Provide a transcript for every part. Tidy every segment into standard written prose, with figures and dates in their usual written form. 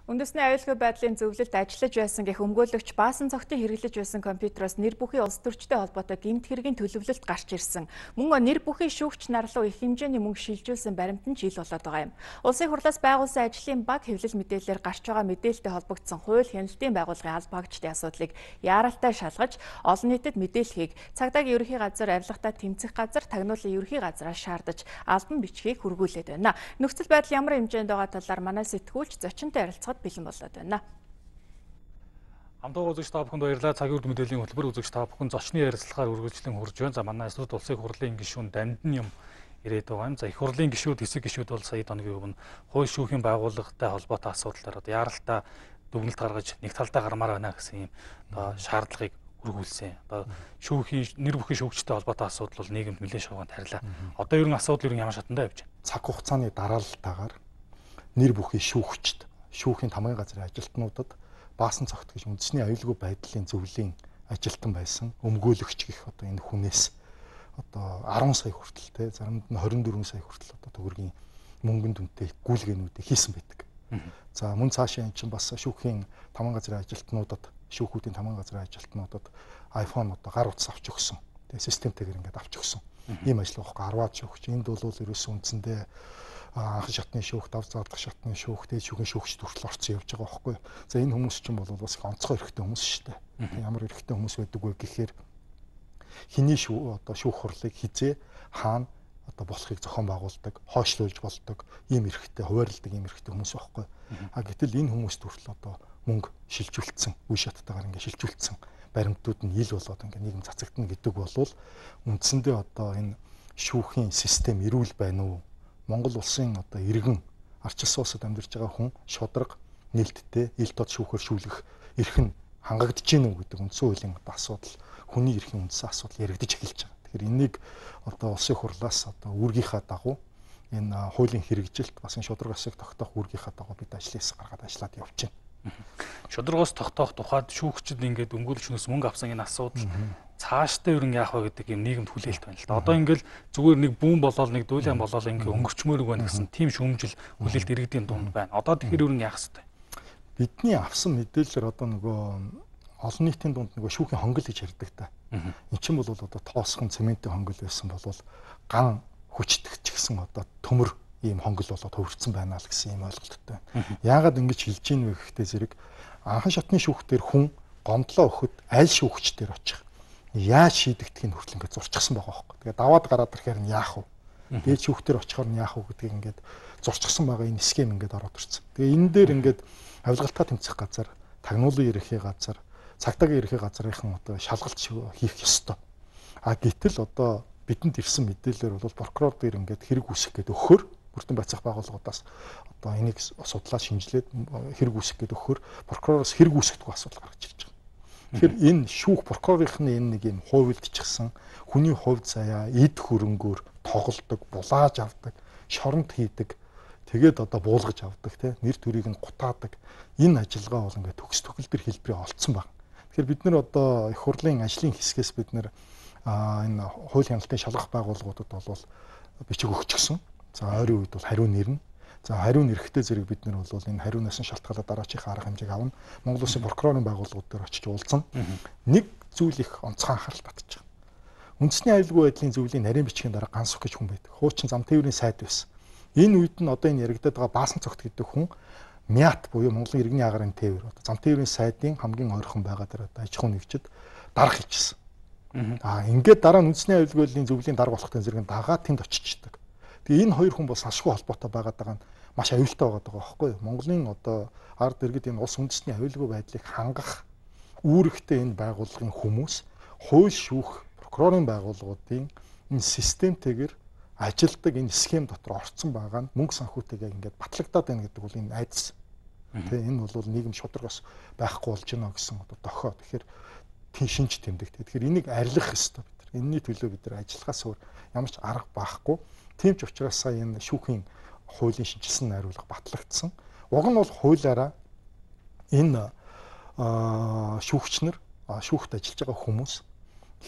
Үндэсний аюулгүй байдлын зөвлөлд ажиллаж байсан гэх өмгөөлөгч баасан цогтын хэрэглэж байсан компьютероос нэр бүхий улс төрчтэй холбоотой гэмт хэргийн төлөвлөлт гарч ирсэн. Мөн нэр бүхий шүүгч нар руу их хэмжээний мөнгө шилжүүлсэн баримт нь жил болоод байгаа юм. Улсын хурлаас байгуулсан ажлын баг хэвлэл мэдээлэлээр гарч байгаа мэдээлэлтэй холбогдсон хууль хяналтын байгууллагын аль багчдын асуудлыг яаралтай шалгаж олон нийтэд мэдээлэхийг цагдаагийн ерөнхий газар авилгатаа тэмцэх газар тагнуулын ерөнхий газраас шаардаж албан бичгийг хүргүүлээд байна. Нөхцөл байдал ямар хэмжээнд байгаа талаар манай сэтгүүлч зочинтой ярилцахад бэлэн болоод байна. Хамтдаа үзэгч та бүхэнд баярлалаа. Цагийн үр мэдээллийн хөтөлбөр үзэгч та бүхэн зочны ярилцлагаар үргэлжлэн хурж байна. За манай эсрэг улсын хурлын гишүүн Дамдын юм ирээд байгаа юм. За их хурлын гишүүд, хэсэг гишүүд бол сая хоногийн өмнө хууль шүүхийн байгууллагатай холбоотой асуудлаар яаралтай дүгнэлт гаргаж нэг талдаа гармаар байна гэсэн юм шаардлагыг үргүүлсэн. Одоо шүүхийн нэр бүхий шүүгчтэй холбоотой асуудал бол нийгэмд нэлээд шавгаанд харьлаа. Одоо ер нь асуудал ямар шатандаа явж байна? Цаг хугацааны дараалтаагаар нэр бүхий шүүгчд шүүхийн тамгын газрын ажилтнуудад баасан цогт гэж үндэсний аюулгүй байдлын зөвлөлийн ажилтан байсан өмгөөлөгч гэх одоо энэ хүнээс одоо 10 сая хүртэл те заримд нь 24 сая хүртэл одоо төгрөгийн мөнгөнд үнэтэй гүйлгээнүүдийг хийсэн байдаг. За мөн цаашаа эн чинь бас шүүхийн тамгын газрын ажилтнуудад шүүхүүдийн тамгын газрын ажилтнуудад iPhone одоо гар утас авч өгсөн. Тэгээ системтэйгээр ингээд авч өгсөн. Ийм ажил واخхой 10-аад шүүгч. Энд бол ерөөсөө үндсэндээ анх шатны шүүх, дав заадах шатны шүүх, дээд шүүхийн шүүгчд хүртэл орцсон явж байгаа байхгүй. За энэ хүмүүс чинь бол бас их онцгой эрхтэй хүмүүс шүү дээ. Ямар эрхтэй хүмүүс байдаг вэ гэхээр хиний одоо шүүх хурлыг хизээ хаана одоо болохыг зохион байгуулдаг, хойшлуулж болдог ийм эрхтэй, хуваарилдаг ийм эрхтэй хүмүүс байхгүй. Гэтэл энэ хүмүүст хүртэл одоо мөнгө шилжүүлсэн, үе шаттайгаар ингээд шилжүүлсэн баримтууд нь ил болоод ингээд нийгэм цацагдана гэдэг бол үндсэндээ одоо энэ шүүхийн систем эрүүл байна уу? Монгол улсын одоо иргэн арчилсан улсад амьдарч байгаа хүн шудраг нээлттэй ил тод шүүхээр шүүлэх эрх нь хангагдж гин үү гэдэг үндсэн хуулийн одоо асуудал, хүний эрхийн үндсэн асуудал яригдж эхэлж байгаа. Тэгэхээр энийг одоо улсын хурлаас одоо үүргийнхаа дагуу энэ хуулийн хэрэгжилт бас энэ шудраг асыг тогтоох үүргийнхаа дагуу бид ажлын хэсэг гаргаад ажиллаад явж байна. Шудрагаас тогтоох тухайд шүүгчд ингээд өмгөөлөгчнөөс мөнгө авсан энэ асуудал цаашдаа ер нь яах вэ гэдэг юм нийгэмд хүлээлт байна л да. Одоо ингээл зүгээр нэг бүүн болоод нэг дүүлэн болоод ингээ өнгөрчмөр байна гэсэн тийм шүүмжил хүлээлт иргэдийн дунд байна. Одоо тэгэхээр ер нь яах ёстой? Бидний авсан мэдээлэлээр одоо нөгөө олон нийтийн дунд нөгөө шүүхийн хонгол гэж ярьдаг та. Эн чинь бол одоо тоосхон цементийн хонгол байсан бол ган хүчтгэж гисэн одоо төмөр ийм хонгол болоод хөвөрцөн байна л гэсэн ийм ойлголттой байна. Яагаад ингэж хэлж ийн вэ гэхдээ зэрэг анхан шатны шүүхтэр хүн гомдлоо өгөхөд аль шүүгчдэр очих яаж шийдэгдэх нь хүртэл ингээд зурчихсан байгаа байхгүй. Тэгээ даваад гараад ирэхээр нь яах вэ? Дээд шүүхтэр очихоор нь яах вэ гэдгийг ингээд зурчихсан байгаа энэ схем ингээд ороод ирсэн. Тэгээ энэ дээр ингээд авилгалтаа тэмцэх газар, тагнуулын ерөнхий газар, цагдаагийн ерөнхий газрынхан одоо шалгалт хийх ёстой. Гэтэл одоо бидэнд ирсэн мэдээлэлээр бол прокурор дээр ингээд хэрэг үүсгэх гэдэг өгөхөр бүртэн байцаах байгууллагуудаас одоо энийг судлаад шинжилээд хэрэг үүсгэх гэдэг өгөхөр прокуророос хэрэг үүсгэдэг асуудал гарч ирж байгаа. Тэгэхээр энэ шүүх прокурорынхны энэ нэг юм хувилдчихсан хүний хувь заяа эд хөрөнгөөр тоглодог, булааж авдаг, шоронд хийдэг, тэгээд одоо буулгаж авдаг тий нэр төрийг нь гутаадаг энэ ажиллагаа бол ингээд төгс төгөлдөр хэлбэрээ олцсон байна. Тэгэхээр бид нар одоо их хурлын ажлын хэсгээс бид нар энэ хууль хяналтын шалгах байгууллагуудад бол бичиг өгчихсөн. За ойрын үед бол хариу нэрнэ. За хариу нэрэхтэй зэрэг бид нар бол энэ хариунаас нь шалтгаалаад дараачихын арга хэмжээг авна. Монгол Улсын прокурорын байгууллагууд дээр очиж уулзсан. Нэг зүйл их онцгой анхаарал татж байгаа. Үндэсний аюулгүй байдлын зөвлөлийн нарийн бичгийн дараа Гансүх гэж хүн байдаг. Хуучин зам тээврийн сайд байсан. Энэ үед нь одоо энэ яригдаад байгаа баасан цогт гэдэг хүн МЯТ буюу Монголын иргэний агарын тээвэр. Одоо зам тээврийн сайдын хамгийн ойрхон байгаа дээр одоо аж ахуй нэгжид дарга хийчихсэн. Ингээд дараа нь үндэсний аюулгүй байдлын зөвлөлийн дарга болохтой зэрэг дагаад тэнд очичдаг. Тэгээ энэ хоёр хүн бол салшгүй холбоотой байгаад байгаа нь маш аюултай байгаа байхгүй юу? Монголын одоо ард иргэд энэ улс үндэстний аюулгүй байдлыг хангах үүрэгтэй энэ байгууллагын хүмүүс хууль шүүх прокурорын байгууллагуудын энэ системтэйгээр ажилдаг энэ схем дотор орцсон байгаа нь мөнгө санхүүтэйгээ ингээд батлагдаад байна гэдэг бол энэ айдас. Тэгээ энэ бол нийгэм шударгаас байхгүй болж байна гэсэн одоо дохио. Тэгэхээр тийм шинж тэмдэгтэй. Тэгэхээр энийг арилгах ёстой бид нар. Энэний төлөө бид нар ажиллахаас өөр ямар ч арга байхгүй. Тийм ч учраас сая энэ шүүхийн хуулийн шинжилсэн найруулга батлагдсан. Уг нь бол хуулиараа энэ шүүгчнэр шүүхт ажиллаж байгаа хүмүүс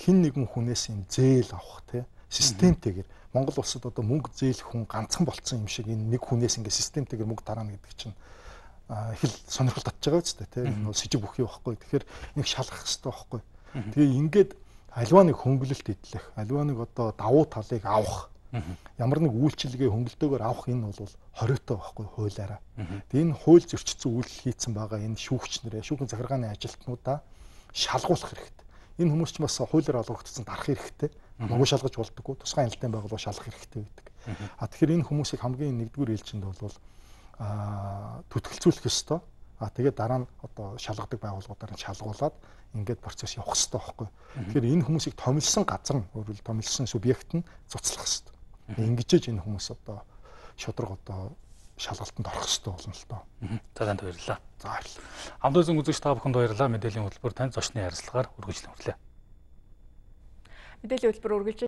хэн нэгэн хүнээс энэ зээл авах те системтэйгээр Монгол улсад одоо мөнгө зээлэх хүн ганцхан болцсон юм шиг энэ нэг хүнээс ингээд системтэйгээр мөнгө тараана гэдэг чинь их л сонирхол татж байгаа үстэй тийм энэ сэжиг бүхий байхгүй. Тэгэхээр нэг шалгах хэрэгтэй байхгүй. Тэгээ ингээд альва нэг хөнгөлөлт идэх, альва нэг одоо давуу талыг авах. Ямар нэг үйлчилгээ хөнгөлтөөр авах энэ бол хориотой байхгүй хуулиараа. Тэгээ энэ хууль зөрчсөн үйлдэл хийцэн байгаа энэ шүүгчнэрээ, шүүхийн захиргааны ажилтнуудаа шалгуулах хэрэгтэй. Энэ хүмүүс ч бас хуулиар олгогдсон дарах хэрэгтэй. Могоо шалгаж болдоггүй. Тусгай хяналтын байгууллага шалгах хэрэгтэй гэдэг. Тэгэхээр энэ хүмүүсийг хамгийн нэгдүгээр ээлжинд бол түтгэлцүүлэх ёстой. Тэгээд дараа нь одоо шалгадаг байгууллагуудаар нь шалгуулад ингээд процесс явах хэрэгтэй байхгүй. Тэгэхээр энэ хүмүүсийг томилсон газар нь өөрөлд томилсон субъект нь цуцлах хэрэгтэй. Ингэжээж энэ хүмүүс одоо шудраг одоо шалгалтанд орох хэрэгтэй болно л доо. За танд баярлалаа. За баярлалаа. Хамт үзэн үзэгч та бүхэнд баярлалаа. Мэдээллийн хөтөлбөр танд зочны ярилцлагаар үргэлжлэн хүрлээ. Мэдээллийн хөтөлбөр үргэлж